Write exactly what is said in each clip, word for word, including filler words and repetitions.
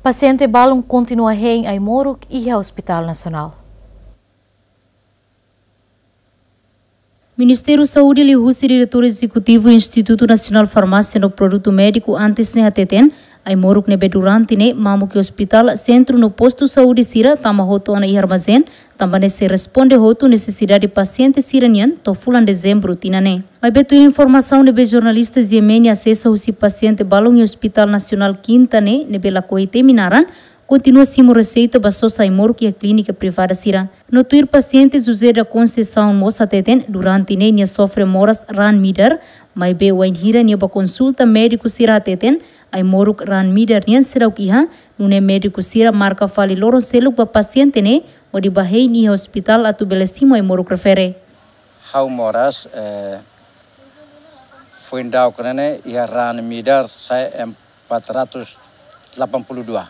Pasiente balun kontinua hein ai-moruk iha Hospital Nasionál. Ministériu Saúde liuhusi Diretór Ezekutivu Institutu Nasionál Farmásia no Produtu Médiku antes ne'e hateten, ai-moruk ne'ebé durante ne'e mamuk iha ospitál, sentru no postu saúde sira tama hotu ona iha armazén, tanba ne'e sei responde hotu nesesidade pasiente sira-nian to'o fulan Dezembru tinan ne'e. Maibé tuir informasaun ne'ebé jornalista G M N asesa husi pasiente balun iha Hospital Nasionál Kinta ne'e, ne'ebé lakohi temi naran, kontinua simu reseita ba sosa ai-moruk iha klínika privada sira. No tuir pasiente José da Conceição mós hateten, durante ne'e nia sofre moras raan midar, maibé wainhira nia bá konsulta médiku sira hateten, ai-moruk raan midar nian seidauk iha, nune'e médiku sira marka fali loron seluk ba pasiente ne'e, hodi bá hein iha ospitál atu bele simu ai-moruk refere. Ha'u moras, eh, foin daudauk ne'e iha raan midar sai empat ratus delapan puluh dua.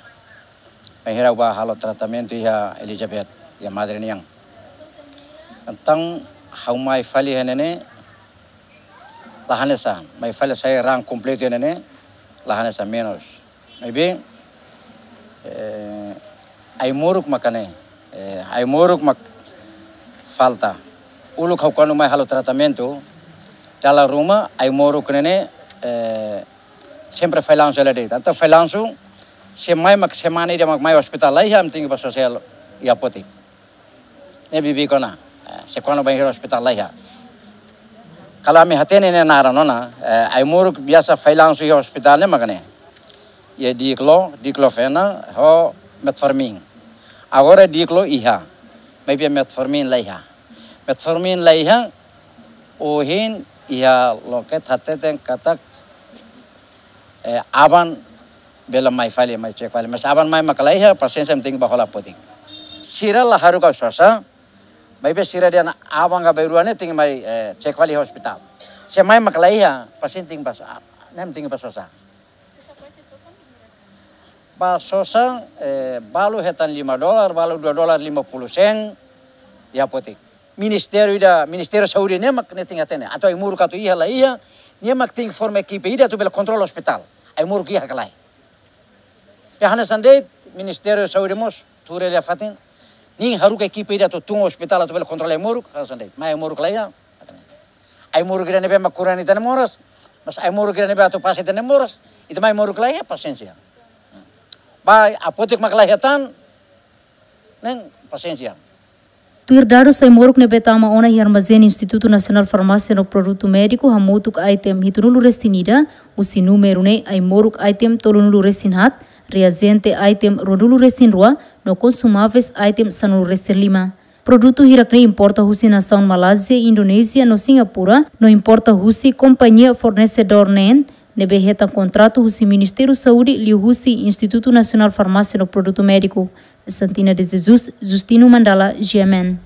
Bainhira ha'u bá halo tratamentu iha Elizabeth, iha Madre nian. Entaun, ha'u mai fali iha ne'e ne'e, la hanesan, mai fali sai raan kompletu iha ne'e ne'e, la hanesan menus. Maibé, eh, ai-moruk maka ne'e, eh, ai-moruk mak falta. Uluk ha'u kuandu mai halo tratamentu, dala ruma ai-moruk ne'e ne'e, eh, sempre fallansu hela de'it. Entaun fallansu, se mai mak semana ida mak mai ospitál laiha, ami tenke bá sosa iha apotek. Ne'e bibi kona, eh, se kuandu bainhira ospitál laiha. Kalau ami hatene ne'e naran ona, eh, ai-moruk biasa fallansu iha ospitál ne'e mak ne'e. Iha diclo, diclofenac, ho metformin. Agora diclo iha, maibé metformin laiha. Metformin laiha, ohin iha loket hateten katak, eh, aban bele mai fali, mai cek fali. Mas aban mai mak laiha, pasiente ami tenke bá hola apotek. Sira la haruka sosa, maibé sira dehan aban ka bainrua ne'e tenke mai, eh, cek fali iha ospitál. Se mai mak laiha, pasiente tenke bá so-, ah, ne'e ami tenke bá sosa. Bá sosa, eh, balu hetan lima dolar, balu dua dolar lima puluh sen, iha apotek. Ministériu ida, Ministériu Saúde ne'e mak ne'e tenke hatene. Atu ai-moruk atu iha laiha, nia mak tenke forma ekipe ida atu bele kontrola ospitál. Ai-moruk iha ka lae. Iha hanesan de'it, Ministériu Saúde mós, tuur iha fatin. Nia haruka ekipe ida atu tun ospitál atu bele kontrola ai-moruk, hanesan de'it. Mai ai-moruk laiha. Ai-moruk ida ne'ebé mak kura ita-nia moras, mas ai-moruk ida ne'ebé atu pasa ita-nia moras, ita mai ai-moruk laiha, pasiénsia. Bá apotek mak laiha tan, ne'e pasiénsia. Tuir dadus ai-moruk ne'ebé tama ona iha armazén Institutu Nasionál Farmásia no Produtu Médiku, hamutuk item hitunulu resin ida, husi númeru ne'e ai-moruk item tolunulu resin haat, reajente item ruanulu resin rua, no konsumáveis item sanulu resin lima. Produtu hirak ne'e importa husi nasaun Malázia, Indonézia no Singapura, no importa husi kompañia fornesedór neen, ne'ebé hetan kontratu husi Ministériu Saúde liuhusi Institutu Nasionál Farmásia no Produtu Médiku. Santina de Jesus, Justino Mandala, G M N.